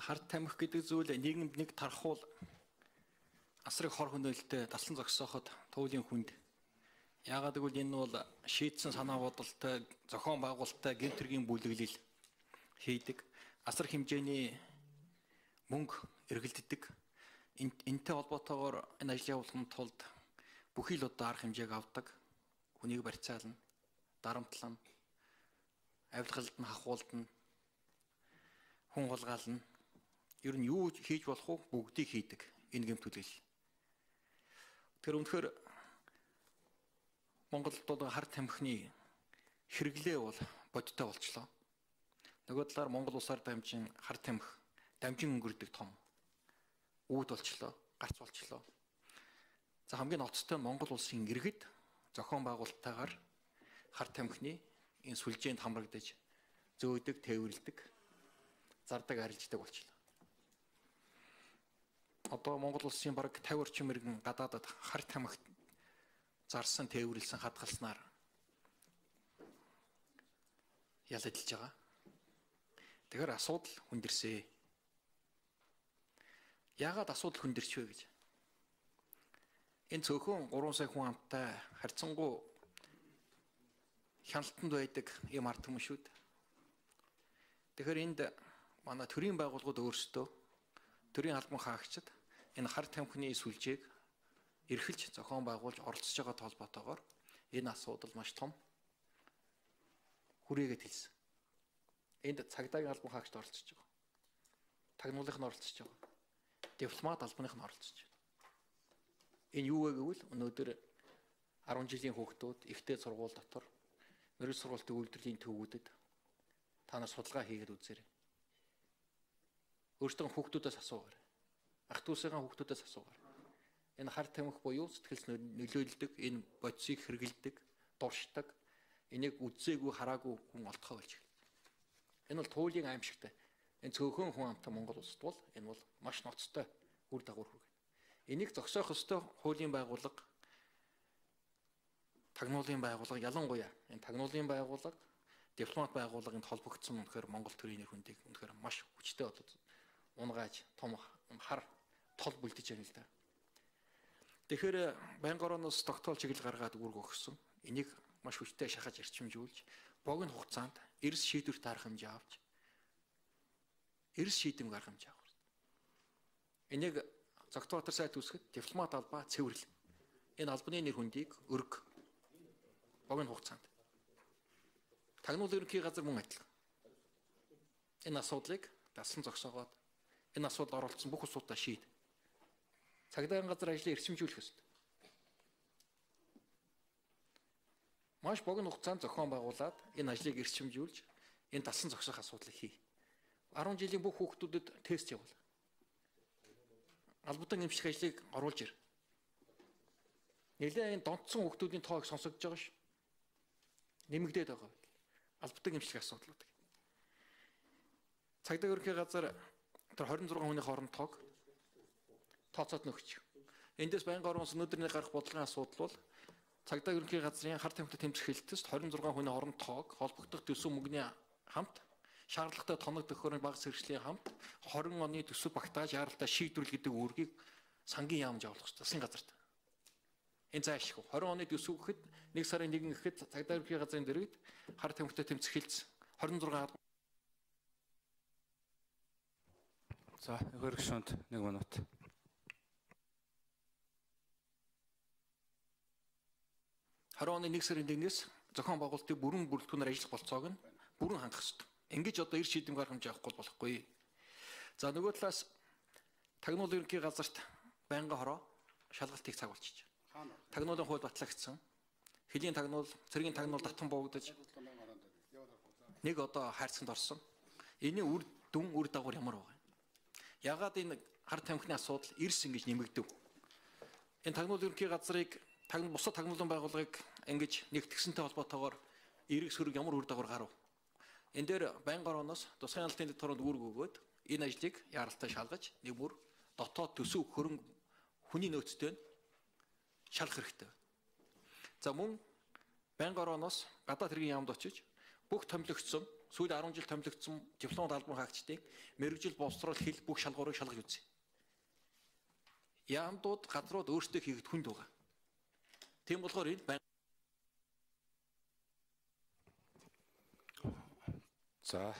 Харт тамхи гэдэг зүйл нийгэмд нэг тархуул асрыг хор хөнөөлтөд талсан зогсооход туулийн хүнд. Яагаад гэвэл энэ бол шийдсэн санаа бодолтой, зохион байгуулалттай гэмт хэргийн бүлэглэл хийдэг. Асар хэмжээний мөнгө эргэлддэг. Энтэй холбоотойгоор энэ ажил явуулахын тулд бүхий л удаа арга хэмжээг авдаг. Хүнийг барьцаална, дарамтлана, авилгалд нь хахуулдана, хүн хулгаална. Ер нь юу хийж болох вэ? Бүгдийг хийдэг. Энэ гэмт бүлэглэл. Тэр үнэхээр Монголд бол харт тамхины хэрэглээ бол бодиттой болчлоо. Нөгөө талаар Монгол улсаар дамжин харт тамхи дамжин өнгөрдөг том үүд болчлоо, гарц болчлоо. За хамгийн ноцтой нь Монгол улсын иргэд зохион байгуулалттайгаар харт тамхины энэ сүлжээнд хамрагдаж зөөдөг, тээвэрлэдэг, зардаг, арилждаг болчлоо. Одоо Монгол улсын бараг 50 орчим иргэн гадаадад харт тамхи зарсан, тээвэрлсэн, хадгалснаар ялагдж байгаа. Тэгэхээр асуудал хүндэрсэ. Яагаад асуудал хүндэрч вэ гэж? Энэ цөөхөн 3 сая хүн амтай харьцангуй хяналтанд байдаг юм ард түмшүүд. Тэгэхээр энд манай төрийн байгууллагууд өөрсдөө төрийн албан хаагчид энэ харт тамхины сүлжээг эрхэлж зохион байгуулж оролцож байгаа толботоогоор энэ асуудал маш том хүрээгээд хэлсэн. Энд цагдаагийн албан хаагчид оролцож байгаа. Тагнуулынх нь оролцож байгаа. Дипломат албаных нь оролцож байна. Энэ юу вэ гэвэл өнөөдөр 10 жилийн хүүхдүүд ихтэй сургууль дотор мэрэгжил сургуулийн үйлдвэрлэлийн төвүүдэд та нар судалгаа хийгээд үзээрэй. Өөртөө хүүхдүүдээс асуугаарай. Ах トゥ усыгаа хүүхдүүдээс асуугаарай. Энэ харт тамхи буюу сэтгэл нөлөөлдөг, энэ бодисыг хэрэгэлдэг, дуршдаг, энийг үзээгүй, хараагүй хүн олдохоо болж байна. Энэ бол туйлын аимшигтай. Энэ цөөхөн хүн амтай Монгол улсад бол энэ бол маш ноцтой үр дагавар хүргэнэ. Энийг зогсоох ёстой хуулийн байгууллага, тагнуулын байгууллага, ялангуяа энэ тагнуулын байгууллага, дипломат байгууллагын холбогдсон үнэхээр Монгол төрийн нэр хүндийг үнэхээр маш хүчтэй болоод унгааж том хар тол бүлдэж байна л да. Тэгэхээр байнгын орооноос тогтоол чиглэл гаргаад үүрэг өгсөн. Энийг маш хүчтэй шахаж эрчимжүүлж, богино хугацаанд эрс шийдвэрт арга хэмжээ авч, эрс шийдэм арга хэмжээ авах. Энийг Зогтбаатар сайд үүсгэхэд дипломат албаа цэвэрлэн. Энэ албаны нэр хүндийг өрг богино хугацаанд. Тагнуулын ерөнхий газар мөн адилхан. Энэ асуудлыг дасан зогсоогоод энэ асуудалд оролцсон бүх улсуудаа шийд. Цагдаагийн газар ажлыг эрчимжүүлэх ёстой. Маш богино хугацаанд зохион байгуулад энэ ажлыг эрчимжүүлж энэ дасан зогсох асуудлыг хий. 10 жилийн бүх хүүхдүүдэд тест явуул. Албадан эмчлэх ажлыг оруулж ир. Нэлээд энэ донтсон хүүхдүүдийн тоог сонсогдож байгаа ш. Нэмэгдээд байгаа. Албадан эмчлэх асуудлууд. Цагдаагийн ерөнхий газар тэр 26 хүний хооронд тоог тооцоод нөхч. Эндээс байнгын орон өнөөдрний гарах бодлогын асуудал бол цагдаагийн ерөнхий газрын харт тамхитай тэмцэх хэлэлтэст 26 хүний хооронд тоог холбогдох төсөв мөнгөний хамт шаардлагатай тоног төхөөрөмж баг сэргэжлийн хамт 20 оны төсөв багтааж яаралтай шийдвэрлэл гэдэг үүргийг сангийн яамж явуулах хэрэгтэй. Засгийн газарт. Энэ заашгүй. 20 оны төсөв гэхэд 1 сарын 1 гэхэд цагдаагийн ерөнхий газрын дэргэд харт тамхитай тэмцэх хэлэлц 26. За, гөргшөнд 1 минут. Оны 1 сарын 1-ээс зохион байгуулалтын бүрэн бүрэлдэхүүнээр ажиллах болцоог нь бүрэн хангах ёстой. Ингэж одоо эрс шийдэм арга хэмжээ авахгүй болохгүй. За нөгөө талаас тагнуулын ерөнхий газарт байнгын хороо шалгалтыг цаг болчих. Тагнуулын хууль батлагдсан. Хөлийн тагнуул, цэргийн тагнуул татан буугдаж нэг одоо хайрцагт орсон. Энийн үр дагавар ямар байгаа юм? Ягаад энэ харт тамхины асуудал эрс ингэж нэмэгдэв? Энэ тагнуулын ерөнхий газрыг бусад тагнуулын байгууллагыг ингэж нэгтгэсэнтэй холбоотойгоор эрэг сөрөг ямар үр дагавар гарав? Энэ дээр байнгын орооноос тусгай хяналтын дэвтгүүрөнд үүрэг өгөөд энэ ажлыг яаралтай шалгаж нэг бүр дотоод төсөв хөрөнгө хүний нөөцтэй шалгах хэрэгтэй. За мөн байнгын орооноос гадаад хэргийн яамд очиж бүх томилогдсон сүүл 10 жил томилогдсон дипломт албан хаагчдыг мэрэгжил боловсрол хэл бүх шалгуурыг шалгаж үзье. Яамдууд газрууд өөрсдөө хийгдэх хүнд байгаа. Тийм болохоор энэ За